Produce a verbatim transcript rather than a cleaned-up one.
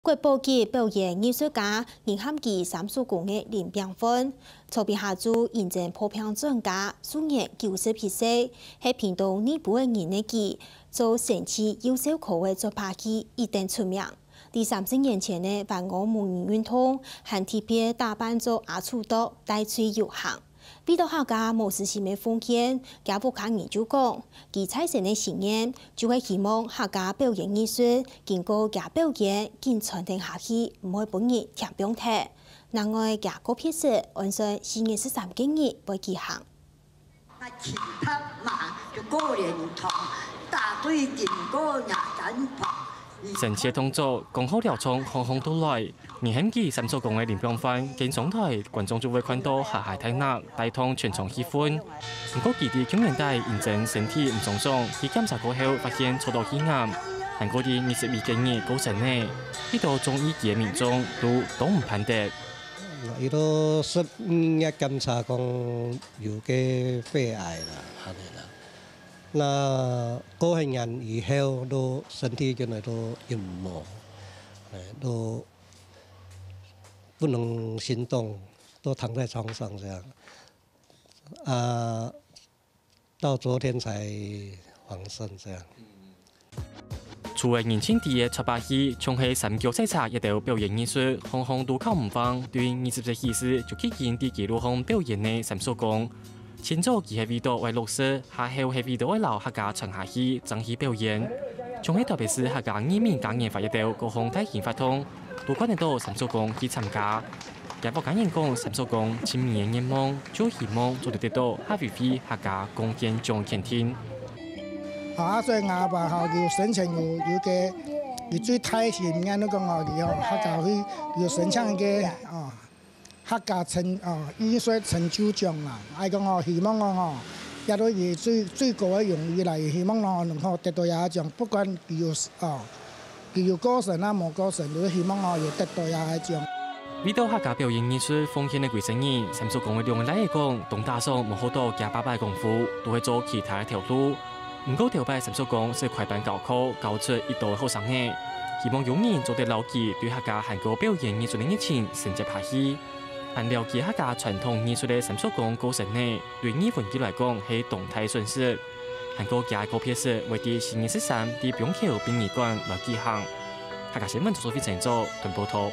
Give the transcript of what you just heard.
國寶級表演藝術家仁漢區三叔公个林炳煥，昨晡下晝迎接破病轉家，終年九十一歲，係屏東內埔个人个佢，做生趣幼小可愛做把戲一等出名。在三十年前个萬塢無人運動，還特別打扮做阿鼠毒，戴罪遊行。 為著客家無私心个奉獻，厥屋下人就講，佢在先个心願就係希望客家表演藝術經過厥表演，緊傳承下去，毋會分人添放忒。另外，厥告別式安算四月十三个日會舉行。 生趣个動作，講好了，從行行到來， 仁漢區三叔公个林炳煥，緊上台，觀眾就會看著哈哈大笑，帶動全場氣氛。毋過佢在舊年底因為身體毋爽爽，去檢查過後發現著著肺癌，還過在二十一个日過身了。一兜中意佢个民眾都當毋盼得。佢都十二月檢查講有个肺癌啦，恁樣啦。那過完年以後都身體原來都陰無，哎，都 不能行動，都躺在床上這樣。啊，到昨天才往生這樣。除了人情地个撮把戲，像係三腳賽車這兜表演藝術，行行都靠毋橫，對二十歲起始就已經在街路項表演个三叔公。 清早佢係為著愛落實，下晝係為著愛摎客家傳下去，爭取表演。像係特別係客家義民嘉年華這兜各項大型活動，都看得著三叔公去參加。厥屋下人講，三叔公盡尾个願望，就希望做得得著客委會客家貢獻獎肯定。啊，所以𠊎阿爸吼，佢生前有，有个，佢最大心願，就講哦，佢吼，客家會有申請一个，哦， 客家成，哦，藝術成就獎啦。愛講哦，希望講哦，這都以最，最高个榮譽來，希望哦，能夠得到這个獎，不管佢有，哦，佢有過身啊，無過身，都希望哦，有得到這个獎。為著客家表演藝術奉獻个幾十年，三叔公个兩个倈仔講，當打爽無學著厥爸爸个功夫，都係做其他个頭路。毋過頭擺三叔公識開班教課，教出一兜个後生仔，希望有人做得摎佢對客家還過表演藝術个熱情承接下去。 還了解客家傳統藝術个三叔公過身了，對義文界來講係當大損失。還過厥告別式會在四月十三在板橋殯儀館來舉行。客家新聞，周淑芬製作，報導。